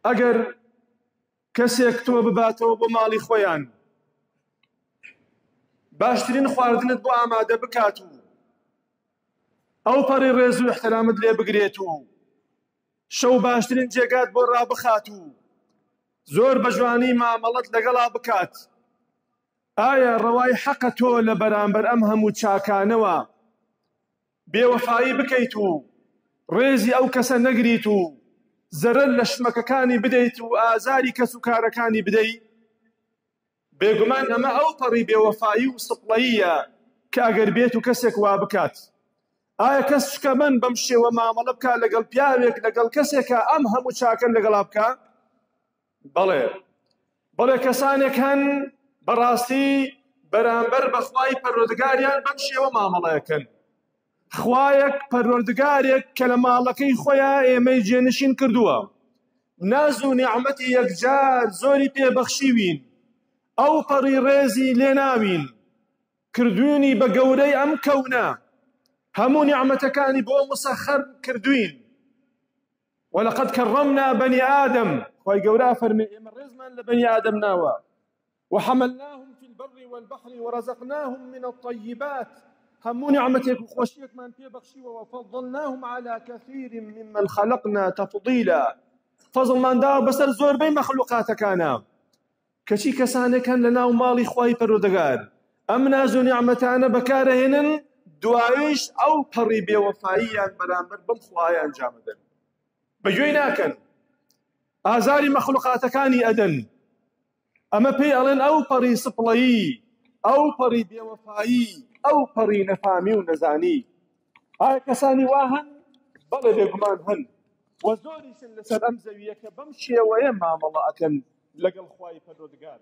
ئەگەر کەسێک تۆ بباتەوە بۆ ماڵی خۆیان باشترین خواردنت بۆ ئامادە بکات و ئەو پەڕی ڕێز و احترامت لێ بگرێت و شەو باشترین جێگات بۆ ڕابخات و زۆر بە جوانی مامەڵەت لەگەڵا بکات ئایا ڕەوای حەقە تۆ لە بەرامبەر ئەم هەموو چاکانەوە بێوەفایی بکەیت و ڕێزی ئەو کەسە نەگریت و زەرەر لە شمەکەکانی بدەیت و ئازاری کەس و کارەکانی بدەیت؟ بێگومان ئەمە ئەو پەڕی بێوەفایی و سپڵەییە کە ئەگەر بێت و کەسێک وا بکات. ئایا کەس شکەمەند بەم شێوە مامەڵە بکات لەگەڵ پیاوێک لەگەڵ کەسێکا ئەم هەموو چاکە لەگەڵا بکا؟ بەڵێ بەڵێ کەسانێک هەن بەڕاستی بەرامبەر بەخوای پەروەردگاریان بەم شێوە مامەڵەکەن خوایەک پەروەردگارێک کە لە ماڵەکەی خۆیان ئێمەی جێنشین کردووە ناز و نیعمەتی یەکجار زۆری پێبەخشیوین ئەو پەڕی ڕێزی لێناوین کردوینی بە گەورەی ئەم کەونە هەموو نیعمەتەکانی بۆ مسەخەر کردوین ولقد كرمنا بني آدم خوای گەورە فەرمی ئێمە ڕێزمان لە بەنی ئادەم ناوە وحملناهم في البر والبحر ورزقناهم من الطيبات هەموو نیعمەتێک و خۆشیەکمان پێ بەخشیوە وفضلناهم على كثير ممن خلقنا تفضيلا فەزڵمان داوە بەسەر زۆربەی مەخلوقاتەکانە کەچی کەسانێک هەن لە ناو ماڵی خوای پەروەردگار ئەم ناز و نیعمەتانە بەکارەهێنن دوایش ئەو پەڕی بێوەفاییان بەرامبەر بەم خوایە ئەنجامەدەن بەگوێی ناکەن ئازاری مەخلوقاتەکانی ئەدەن ئەمە پێی ئەڵێن ئەو پەڕی سپڵەیی ئەو پەڕی بێوەفایی ئەو پەڕی نەفامی و نەزانی ئایا کەسانی وا هەن؟ بەڵێ بێگومان هەن و زۆریشن لەسەر ئەم زەوییە کە بەم شێوەیە مامەڵە ئەکەن لەگەڵ خوای پەروەردگار.